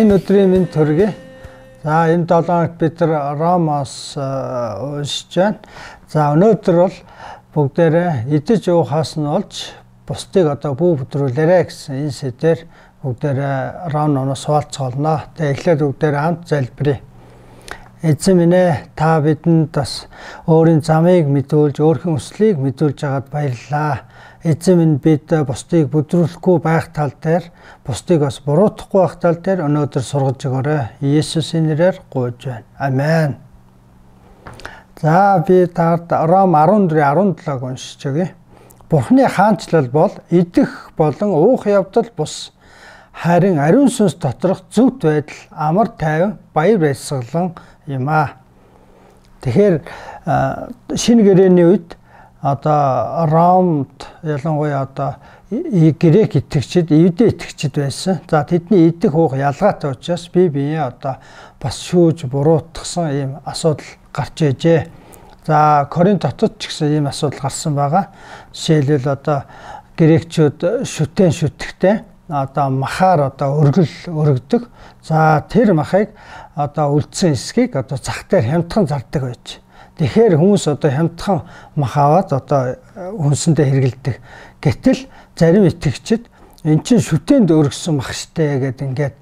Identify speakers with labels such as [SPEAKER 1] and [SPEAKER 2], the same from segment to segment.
[SPEAKER 1] Энэ өдрийн минь төргий. За энэ 7 хоногт бид нар Ромоос уншиж байна. За өнөөдөр бол бүгдээрээ идэж уухаас нь олж бусдыг одоо бүү бүдрүүлээрэ гэсэн энэ сэдвээр бүгдээрээ Ром номоос хуваалцгаална. Тэгээ эхлээд бүгдээрээ хамт залбирая. Эзэн минь ээ, та бидэнд бас өөрийн замыг мэдүүлж, өөрхийн хүслийг мэдүүлж байгаад баярлалаа. Эзэн минь бид бусдыг бүдрүүлэхгүй байх тал дээр, бусдыг бас буруутгахгүй байх тал дээр өнөөдөр сургаж өгөөрэй. Иесусийн нэрээр гуйж байна. Амен. За би таард Ром 14:17-г уншиж өгье. Бурхны хаанчлал бол идэх болон уух явдал бус. Харин ариун сүнс доторх зөвхт байдал, амар тайван, баяр баясгалан юм аа. Тэгэхээр шинэ гэрээний үед одоо Ромд ялангуяа одоо грек итгэгчид, евдээ итгэгчид байсан. За тэдний идэх уух ялгаатай учраас бие одоо бас шүүж буруутгсан ийм асуудал гарч ижээ. За Коринт хотод ч гэсэн ийм асуудал гарсан байгаа. Жишээлбэл одоо грекчүүд шүтэн шүтгэхтэй одоо махаар одоо өргөдөг. За тэр махыг одоо үлдсэн эсхийг одоо зах дээр хямдхан зардаг байж. Тэгэхээр хүмүүс одоо хямдхан мах аваад одоо хүнсэндээ хэргэлдэг. Гэтэл зарим итгэгчид эн чинь шүтэнд өргөсөн мах штэ гэдэг ингээд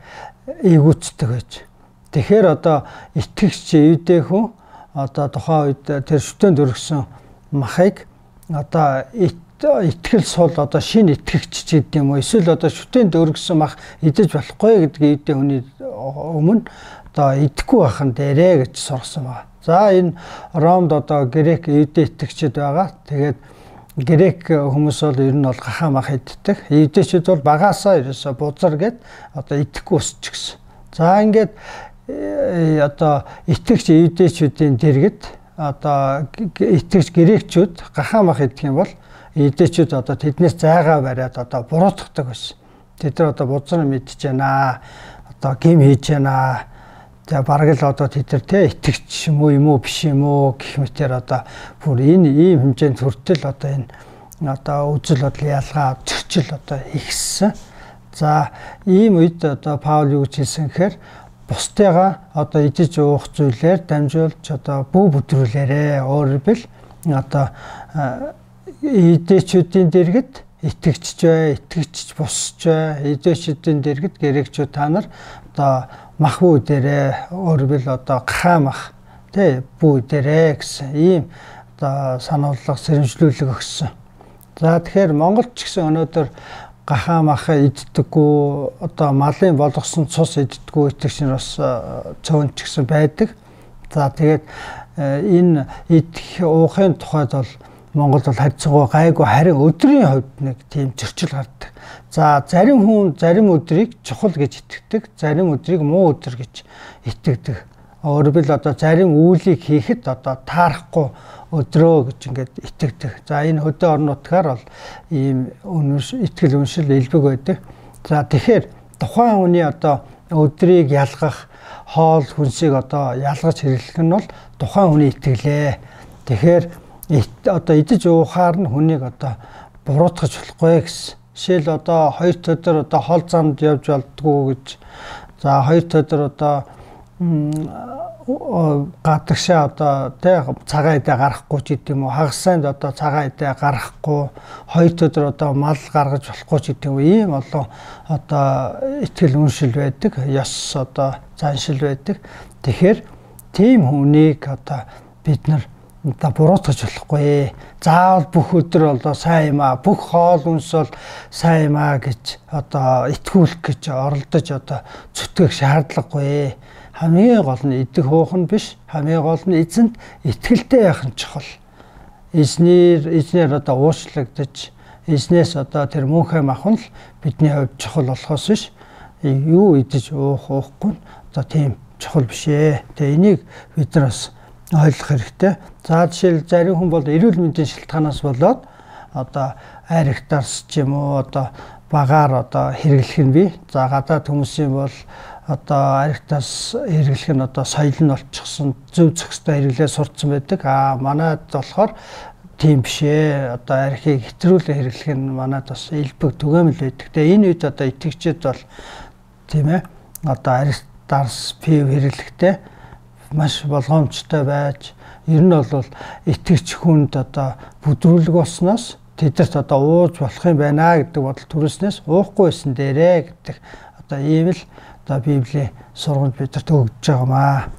[SPEAKER 1] эйгүүцдэг байж. Тэгэхээр одоо итгэгч евдээ хүн одоо тухайн үед тэр шүтэнд өргөсөн махыг одоо итгэл сул одоо шинэ итгэгч ч гэдэг юм уу, эсвэл одоо шүтэнд өргөсөн мах идэж болохгүй гэдгийг евдээ хүний өмнө одоо идэхгүй байхын дээрээ гэж сургасан байна. За энэ Ромд одоо грек евдээ итгэгчид байгаа. Тэгээд грек хүмүүс бол ер нь бол гахаа мах иддэг. Евдээчүүд бол багаасаа ерөөсө бузар гэд одоо идэхгүй өсч гисэн. За ингээд одоо итгэгч евдээчүүдийн дэргэд одоо итгэгч грекчүүд гахаа мах идэх юм бол евдээчүүд одоо тэднээс зайгаа бариад одоо буруутгадаг байсан. Тэд нар одоо бузар мэдж байна, одоо гим хийж байна. За бараг л одоо тэд нар те итгэгч юм уу биш юм уу гэх мэтэр одоо бүр энэ ийм хэмжээнд хүртэл одоо энэ одоо үзэл бодол ялгаа зөрчил одоо ихссэн. За ийм үед одоо Паул юу гэж хэлсэн гэхээр бусдыгаа одоо идэж уух зүйлээр дамжуулж одоо бүү бүдрүүлээрэ. Өөрөөр бил одоо идээчүүдийн дэргэд итгэгч бай, итгэгч бусч бай, идээчүүдийн дэргэд грекчүүд та нар одоо мах бүү дээрээ, өөрөөр бил одоо гахаа мах тий бүү дээрээ гэсэн ийм одоо сануулга сэрэмжлүүлэг өгсөн. За тэгэхээр Монголд ч гэсэн өнөөдөр гахаа мах иддэггүй, одоо малын болгосон цус иддэггүй итгэгч нар бас цөөн ч гэсэн байдаг. За тэгээд энэ идэх уухын тухайд бол Монгол бол хайцангуй гайгүй, харин өдрийн хувьд нэг тийм зөрчил гардаг. За зарим хүн зарим өдрийг чухал гэж итгэдэг, зарим өдрийг муу өдөр гэж итгэдэг. Өөрөөр бил одоо зарим үйлийг хийхэд одоо таарахгүй өдрөө гэж ингээд итгэдэг. За энэ хөдөө орон нутгаар бол ийм итгэл үншил элбэг байдаг. За тэгэхээр тухайн хүний одоо өдрийг ялгах, хоол хүнсийг одоо ялгаж хэрэглэх нь бол тухайн хүний итгэлээ. Тэгэхээр одоо идэж уухаар нь хүнийг одоо буруутгаж болохгүй гэсэн. Жишээл одоо 2 өдөр одоо хол замд явж болдгоо гэж. За 2 өдөр одоо гадагшаа одоо тий цагаан идэ гарахгүй ч гэдэг юм уу, хагас санд одоо цагаан идэ гарахгүй, 2 өдөр одоо мал гаргаж болохгүй ч гэдэг юм уу, ийм олон одоо итгэл үншил байдаг, ёс одоо заншил байдаг. Тэгэхээр тийм хүнийг одоо бид нар одоо буруутгаж болохгүй. Заавал бүх өдөр одоо сайн юм аа, бүх хоол хүнс бол сайн юм аа гэж одоо итгүүлэх гэж оролдож одоо зүтгэх шаардлагагүй. Хамгийн гол нь идэх уух нь биш, хамгийн гол нь эзэнд итгэлтэй байх нь чухал. Эзнэр одоо уучлагдаж, эзнээс одоо тэр мөнхөө махын л бидний хувьд чухал болохоос биш. Юу идэж уухгүй нь одоо тийм чухал биш ээ. Тэгээ энийг бид нар бас ойлгох хэрэгтэй. За жишээл зарим хүн бол эрүүл мэндийн шалтгаанаас болоод одоо аригтарс ч юм уу одоо багаар одоо хэрэглэх нь бий. За гадаад хүмүүсийн бол одоо аригтаас хэрэглэх нь одоо соёл нь болчихсон, зөв зохистой хэрэглээ сурцсан байдаг. Манайд болохоор тийм биш ээ. Одоо архийг хэтрүүлэн хэрэглэх нь манад бас элбэг түгээмэл байдаг. Тэгээ энэ үед одоо итгэгчид бол тийм ээ одоо Аристарс пив хэрэглэхдээ маш болгоомжтой байж ер нь бол итгэгч хүнд одоо бүдрүүлэг болсноос тэдэрт одоо ууж болох юм байна гэдэг бодол төрснөөс уухгүй байсан дээрээ гэдэг одоо ийм л одоо Библийн сургамж бидэнд өгдөж байгаамаа.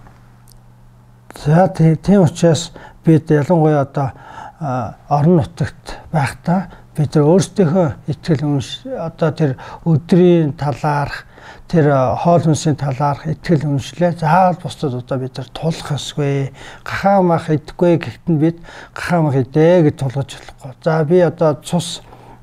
[SPEAKER 1] За тийм учраас бид ялангуяа одоо орон нутагт байхдаа бид нар өөрсдийнхөө итгэл одоо тэр өдрийн талаарх тэр хоол хүнсийн талаарх итгэл үнэмшлээ заавал бусдад одоо бид нар тулах ёсгүй. Гахаа мах идэхгүй гэхдээ бид гахаа мах идэ гэж тулгаж болохгүй. За би одоо цус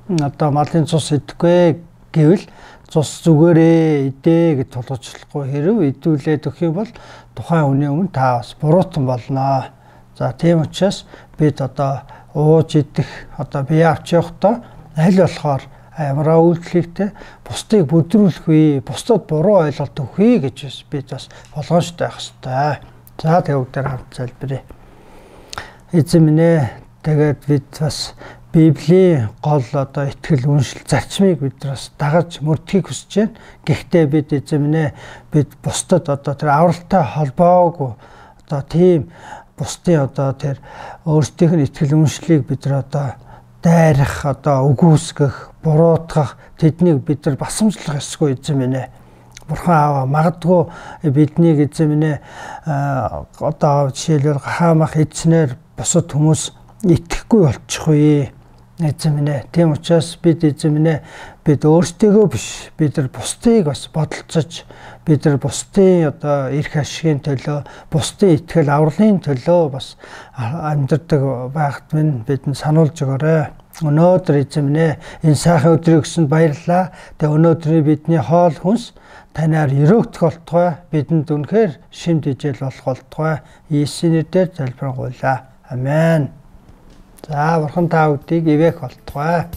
[SPEAKER 1] одоо малын цус идэхгүй гэвэл цус зүгээрээ идэ гэж тулгаж болохгүй. Хэрв идүүлээд өгөх юм бол тухайн хүний өмнө та бас буруутан болно. За тийм учраас бид одоо ууж идэх одоо бие авч явахдаа аль болохоор ямараа үйлдэлтэй бусдыг бүдрүүлэх үе, бусдад буруу ойлголт өгье гэж бид бас болгоомжтой байх хэрэгтэй. За тэгвэл хамт залбирая. Эзэн минь ээ, тэгээд бид бас Библийн гол одоо итгэл үншил зарчмыг бид бас дагаж мөрдөхийг хүсэж байна. Гэхдээ бид эзэн минь ээ, бид бусдад одоо тэр авралтай холбоогүй одоо тийм бусдын одоо тэр өөрсдийнх нь итгэл үншлийг бид нар одоо дайрах одоо үгүйсгэх, буруутгах тэднийг бид нар басамжлах ёсгүй эзэн минь ээ. Бурхан аава магадгүй биднийг эзэн минь ээ одоо жишээлбэл хаамах эзнэр бусад хүмүүс итгэхгүй болчих үе эзэн минь ээ. Тийм учраас бид эзэн минь ээ бид өөрсдийгөө биш бид нар бусдыг бас бодолцож бид нар бусдын одоо эрх ашигын төлөө бусдын итгэл авралын төлөө бас амьдардаг байхад минь бидэнд сануулж өгөөрэй. Өнөөдөр эзэн минь ээ энэ сайхан өдрийг өгсөнд баярлалаа. Тэгээ өнөөдрийн бидний хоол хүнс танаар өрөөгдөх болтугай бидэнд үнэхээр шимт ижил болох болтугай Иесусийн нэрээр залбирanгуйлаа. Амен. За бурхан та бүдийг ивэх болтугай.